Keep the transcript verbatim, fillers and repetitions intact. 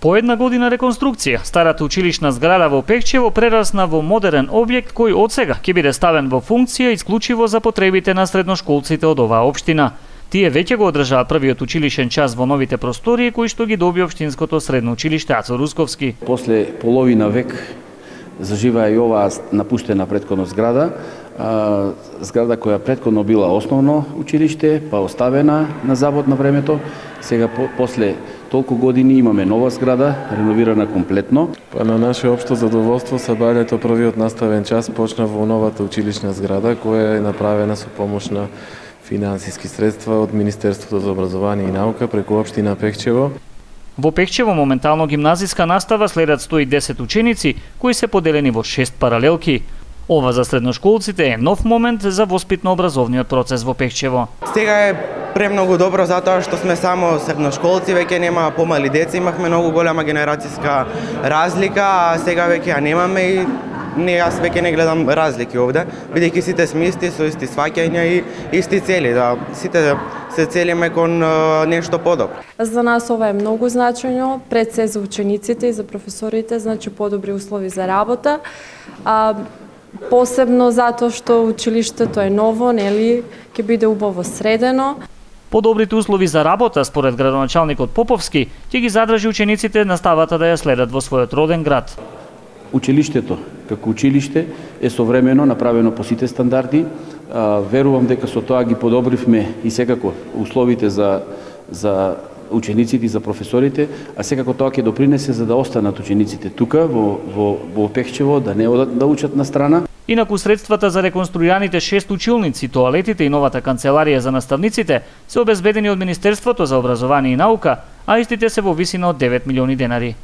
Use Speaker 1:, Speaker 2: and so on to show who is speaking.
Speaker 1: По една година реконструкција, старата училишна зграда во Пехчево прерасна во модерен објект кој одсега ќе биде ставен во функција исклучиво за потребите на средношколците од оваа општина. Тие веќе го одржаа првиот училишен час во новите простории кои што ги доби општинското средно училиште Ацо Русковски.
Speaker 2: После половина век заживаа и оваа напуштена претходно зграда, зграда која претходно била основно училиште, па оставена на забот на времето. Сега по, после толку години имаме нова зграда, реновирана комплетно.
Speaker 3: Па на наше општо задоволство сабањето првиот наставен час почна во новата училишна зграда која е направена со помош на финансиски средства од Министерството за образование и наука преку општина Пехчево.
Speaker 1: Во Пехчево моментално гимназиска настава следат сто и десет ученици кои се поделени во шест паралелки. Ова за средношколците е нов момент за воспитно-образовниот процес во Пехчево.
Speaker 4: Сега е премногу добро затоа што сме само средношколци, веќе нема помали деца, имавме многу голема генерацијска разлика, а сега веќе ја немаме и не, јас веќе не гледам разлики овде, бидејќи сите сме исти, со исти сваќања и исти цели, да сите се целиме кон нешто подобро.
Speaker 5: За нас ова е многу значајно, пред се за учениците и за професорите, значи подобри услови за работа. А, посебно затоа што училиштето е ново, нели, ќе биде убаво средено.
Speaker 1: Подобрите услови за работа, според градоначалникот Поповски, ќе ги задржи учениците наставата да ја следат во својот роден град.
Speaker 2: Училиштето, како училиште, е современо направено по сите стандарди. Верувам дека со тоа ги подобривме и секако условите за, за учениците и за професорите, а секако тоа ќе допринесе за да останат учениците тука во, во, во Пехчево, да не одат да учат на страна.
Speaker 1: Инаку средствата за реконструираните шест училници, тоалетите и новата канцеларија за наставниците се обезбедени од Министерството за образование и наука, а истите се во висина од девет милиони денари.